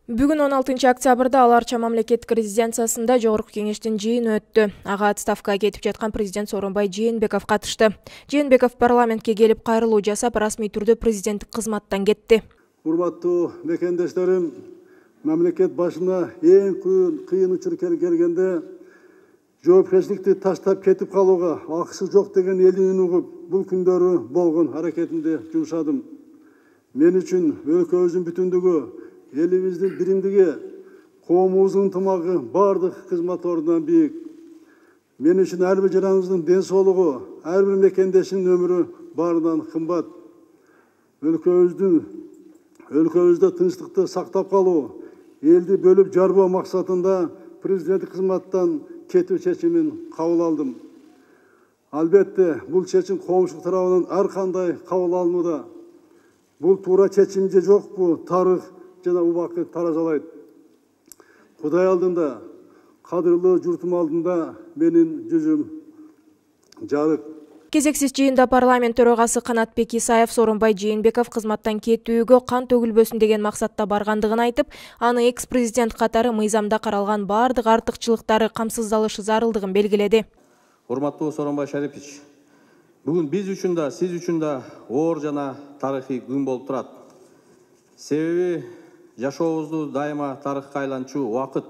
Бүгүн 16 октябрда Ала Арча мамлекеттик резиденциясында Жогорку кеңештин жыйыны өттү. Ага отставкага кетип жаткан президент Сооронбай Жээнбеков катышты. Жээнбеков парламентке келип кайрылуу жасап, расмий түрдө президенттик кызматтан кетти. Урматтуу мекендештерим, мамлекет башына эң кыйын учур келгенде жоопкерчиликти таштап кетип калууга акысы жок деген элдин угуп, бул күндөрү болгон аракетимди жумшадым. Мен үчүн өлкөбүздүн бүтүндүгү, элибиздин биримдиги, коомубуздун ынтымагы бардык кызмат ордунан бийик. Мен үчүн ар бир жараныбыздын ден соолугу, ар бир мекендештин өмүрү баарынан кымбат. Өлкөбүздө тынчтыкты сактап калуу, элди бөлүп жарбоо максатында президенттик кызматтан кетүү чечимин кабыл алдым. Албетте, бул чечим коомчулук тарабынан ар кандай кабыл алынууда. Бул туура чечим же жокпу, тарых жана убакыт таразалайт. Кудай алдында, кадырлуу журтум алдында менин жүзүм жарык. Кезексиз жыйында парламент төрагасы Канатбек Исаев Сооронбай Жээнбеков кызматтан кетүүгө кан төгүлбөсүн деген максатта баргандыгын айтып, аны экс-президент катары мыйзамда каралган бардык артыкчылыктары камсыздалышы зарылдыгын белгиледи. Урматтуу Сооронбай Шарипович, бүгүн биз үчүн да, сиз үчүн да оор жана тарыхый күн болуп турат. Себеби жашообузду дайыма тарыхка айланчу убакыт,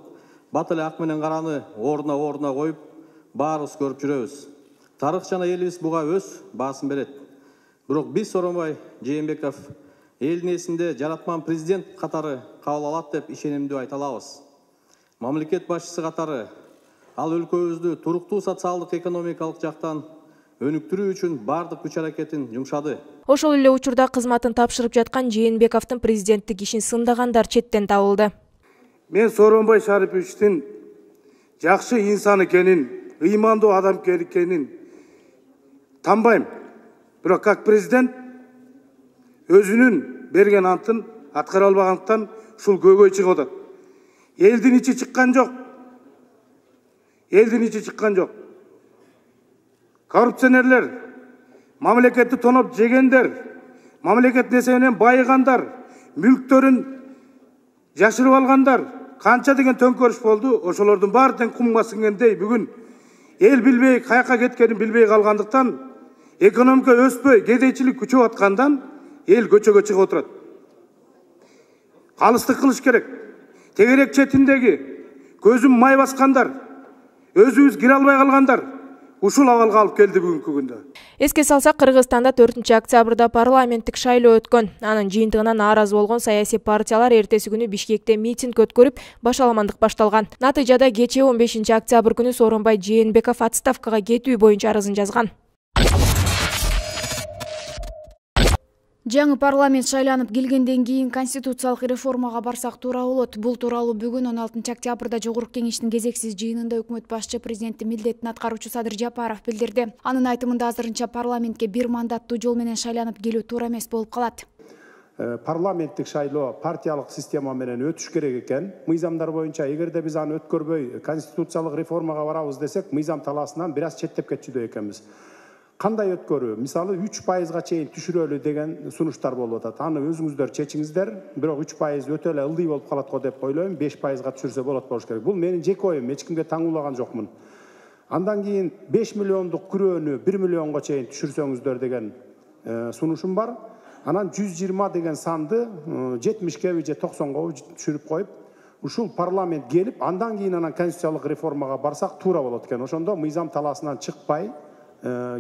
бат эле ак менен караны ордуна коюп, баарыбыз көрүп жүрөбүз. Тарых жана элибиз буга өз баасын берет. Бирок биз Сооронбай Жээнбеков элдин эсинде жаратман президент катары кабыл алат деп ишенимдүү айта алабыз. Мамлекет башчысы катары ал өлкөбүздү туруктуу социалдык экономикалык жактан өнүктүрүү үчүн бардык күч аракетин жумшады. Ошол эле учурда кызматын тапшырып жаткан Жээнбековдун президенттик ишин сындагандар четтен табылды. Мен Сооронбай Шариповичтин жакшы инсан экенин, ыймандуу адам экенин танбайм. Бирок как президент өзүнүн берген антын аткара албагандыктан ушул көйгөй чыгып атат. Элдин ичи чыккан жок. Коррупционерлер, мамлекетти тоноп жегендер, мамлекет несебинен байыгандар, мүлктөрүн жашырып алгандар, канча деген төңкөрүш болду. Ошолордун баары тең кумга сиңгендей бүгүн эл билбей каяка кеткенин билбей калгандыктан, экономика өспөй, кедейчилик күчөп аткандан эл көчөгө чыгып отурат. Калыстык кылыш керек. Тегерек четиндеги көзүн май баскандар, өзүбүз кире албай калгандар ушул абалга алып келди бүгүнкү күндө. Эске салсак, Кыргызстанда 4 октябрда парламенттик шайлоо өткөн. Анын жыйынтыгынан нааразы болгон саясий партиялар эртеси күнү Бишкекте митинг өткөрүп, башаламандык башталган. Натыйжада кечээ 15 октябрь күнү Сооронбай Жээнбеков отставкага кетүү боюнча арызын жазган. Жаңы парламент шайланып келгенден кийин конституциялык реформага барсак туура болот. Бул тууралуу бүгүн 16 октябрда Жогорку кеңештин кезексиз жыйынында өкмөт башчы президенттин милдетин аткаруучу Садыр Жапаров билдирди. Анын айтымында азырынча парламентке бир мандаттуу жол менен шайланып келүү туура эмес болуп калат. Парламенттик шайлоо партиялык система менен өтүш керек экен. Мыйзамдар боюнча эгерде биз аны өткөрбөй конституциялык реформага барабыз десек, мыйзам талаасынан бир аз четтеп кетчүдөй экенбиз. Кандай өткөрүү? Мисалы 3%га чейин түшүрөлү деген сунуштар болуп атат. Аны өзүңүздөр чечиңиздер. Бирок 3% өтө эле ылдый болуп калат го деп ойлойм. 5%га түшүрсө болот керек. Бул менин жеке оюм, эч кимге таңуулаган жокмун. Андан кийин 5 миллиондук күрөөнү 1 миллионго чейин түшүрсөңүздөр деген сунушум бар. Анан 120 деген санды 70ке же 90го түшүрүп коюп, ушул парламент келип, андан кийин анан конституциялык реформага барсак туура болот экен. Ошондо мыйзам талаасынан чыкпай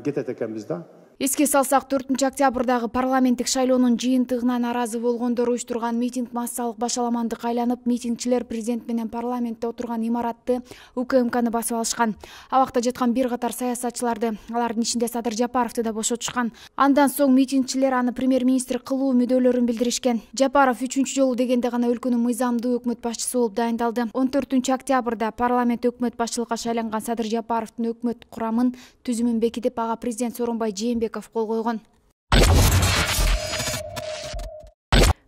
кетет экенбиз да. Эске салсак, 4 октябрдагы парламенттик шайлоонун жыйынтыгына нааразы болгондор уюштурган митинг массалык башаламандык айланып, митингчилер президент менен парламентте отурган имаратты, УКМКны басып алышкан. Абакта жаткан бир катар саясатчыларды, алардын ичинде Садыр Жапаровду да бошотушкан. Андан соң митингчилер аны премьер-министр кылуу мүдөлөрүн билдиришкен. Жапаров 3-чү жолу дегенде гана өлкөнүн мыйзамдуу өкмөт башчысы болуп дайындалды. 14 октябрда парламент өкмөт башчылыкка шайланган Садыр Жапаровдун өкмөт курамын түзүмүн бекитип, ага президент Сооронбай Жээнбеков кол койгон.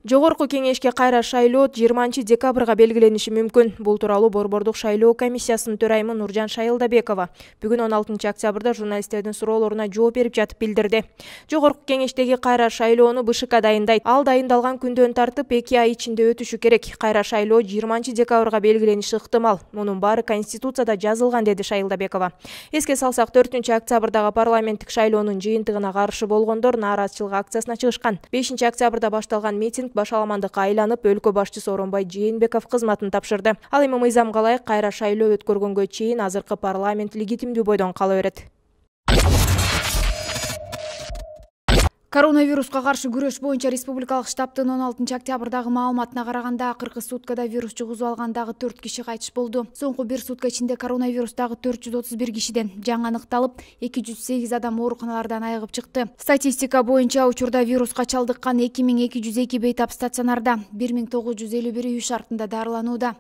Жогорку кеңешке кайра шайлоо 20 декабрга белгилениши мүмкүн. Бул тууралуу Борбордук шайлоо комиссиясынын төрайымы Нуржан Шайылдабекова бүгүн 16 октябрда журналисттердин суроолоруна жооп берип жатып билдирди. Жогорку кеңештеги кайра шайлоону БШК дайындайт. Ал дайындалган күндөн тартып 2 ай ичинде өтүшү керек. Кайра шайлоо 20 декабрга белгилениши ыктымал. Мунун баары Конституцияда жазылган, деди Шайылдабекова. Эске салсак, 4 октябрдагы парламенттик шайлоонун жыйынтыгына каршы болгондор нааразычылык акциясына чыгышкан. 5 октябрда башталган митинг башаламандыкка айланып, өлкө башчысы Сооронбай Жээнбеков кызматын тапшырды. Ал эми мыйзамга ылайык кайра шайлоо өткөргөнгө чейин азыркы парламент легитимдүү бойдон кала берет. Коронавируска каршы күрөш боюнча республикалык штабтын 16 октябрдагы маалыматына караганда, акыркы суткада вирус жугузуп алгандагы 4 киши кайтыш болду. Соңку бир сутка ичинде коронавирустагы 431 кишиден жаңы аныкталып, 208 адам ооруканалардан айыгып чыкты. Статистика боюнча учурда вируска чалдыккан 2202 бейтап стационарда, 1951 үй шартында дарыланууда.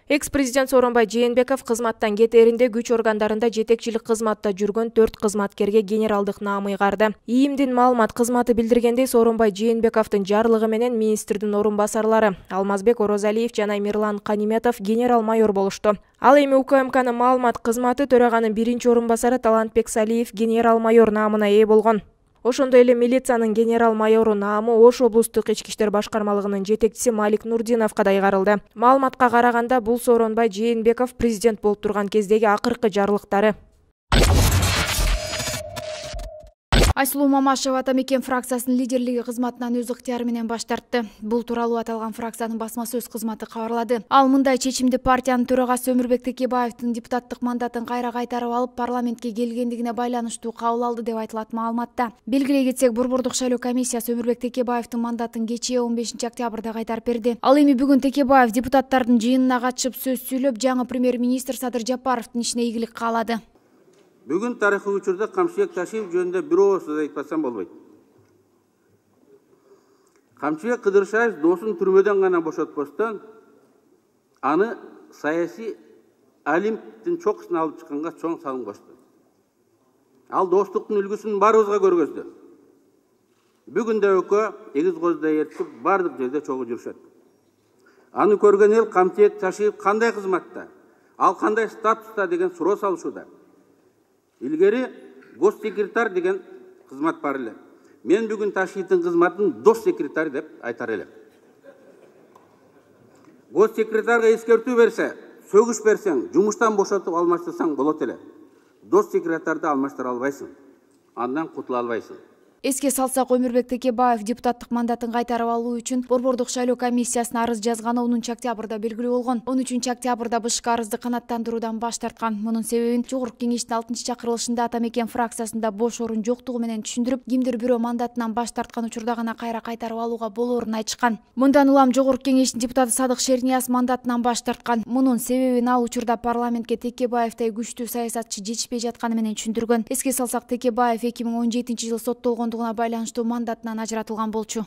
Экс-президент Сооронбай Жээнбеков кызматтан кетээринде күч органдарында жетекчилик кызматта жүргөн 4 кызматкерге генералдык наам ыйгарды. ИИМдин маалымат кызматы билдиргендей, Сооронбай Жээнбековдун жарлыгы менен министрдин орун басарлары Алмазбек Орозалиев жана Мирлан Каниметов генерал-майор болушту. Ал эми УКМКнын маалымат кызматы төраганын биринчи орун басары Талантбек Салиев генерал-майор наамына ээ болгон. Ошондой эле милициянын генерал-майору наамы Ош облустук ички иштер башкармалыгынын жетекчиси Малик Нурдиновго да ыйгарылды. Маалыматка караганда, бул Сооронбай Жээнбеков президент болуп турган кездеги акыркы жарлыктары. Айсулуу Мамашева Атамекен фракциясынын лидерлиги кызматынан өз ыктыяры менен баш тартты. Бул тууралуу аталган фракциянын басма сөз кызматы кабарлады. Ал мындай чечимди партиянын төрагасы Өмүрбек Текебаевдин депутаттык мандатын кайра кайтарып алып, парламентке келгендигине байланыштуу кабыл алды деп айтылат маалыматта. Белгилей кетсек, Борбордук шайлоо комиссиясы Өмүрбек Текебаевдин мандатын кечээ 15 октябрда кайтарып берди. Ал эми бүгүн Текебаев депутаттардын жыйынына катышып сөз сүйлөп, жаңы премьер-министр Садыр Жапаровдун ишине ийгилик каалады. Бүгін тарихи учурда Камчыбек Ташиев жөнүндө бир ооз сөз айтпасам болбойт. Камчыбек Кыдыршаев досун түрмөдөн гана бошотпостон, аны саясий Олимптин чокусуна алып чыкканга чоң салым кошту. Ал достуктун үлгүсүн баарыбызга көргөздү. Бүгүн да экөө эгиз коздай эртип бардык жерде чогуу жүрүшөт. Аны көргөн эл Камчыбек Ташиев кандай кызматта, ал кандай статуста деген суроо салышууда. Илгери госсекретарь деген кызмат бар эле. Мен бүгүн Ташиевдин кызматын дос секретарь деп айтар элем. Госсекретарга эскертүү берсе, сөгүш берсең, жумуштан бошотуп алмаштырсаң болот эле. Дос секретарды алмаштыра албайсың. Андан кутула албайсың. Эске салсак, Өмүрбек Текебаев депутаттык мандатын кайтарып алуу үчүн Борбордук шайлоо комиссиясына арыз жазганы 10 октябрда белгилүү болгон. 13 октябрда БШК арызды канааттандыруудан баш тарткан. Мунун себебин Жогорку кеңештин 6-чакырылышында Атамекен фракциясында бош орун жоктугу менен түшүндүрүп, кимдир бирөө мандатынан баш тарткан учурда гана кайра кайтарып алууга болоорун айтышкан. Мындан улам Жогорку кеңештин депутаты Садык Шернияз мандатынан баш тарткан. Мунун себебин ал учурда парламентке Текебаевдей күчтүү саясатчы жетишпей жатканы менен түшүндүргөн. Эске салсак, Текебаев 2017 жылы соттолгондугуна байланыштуу мандатынан ажыратылган болчу.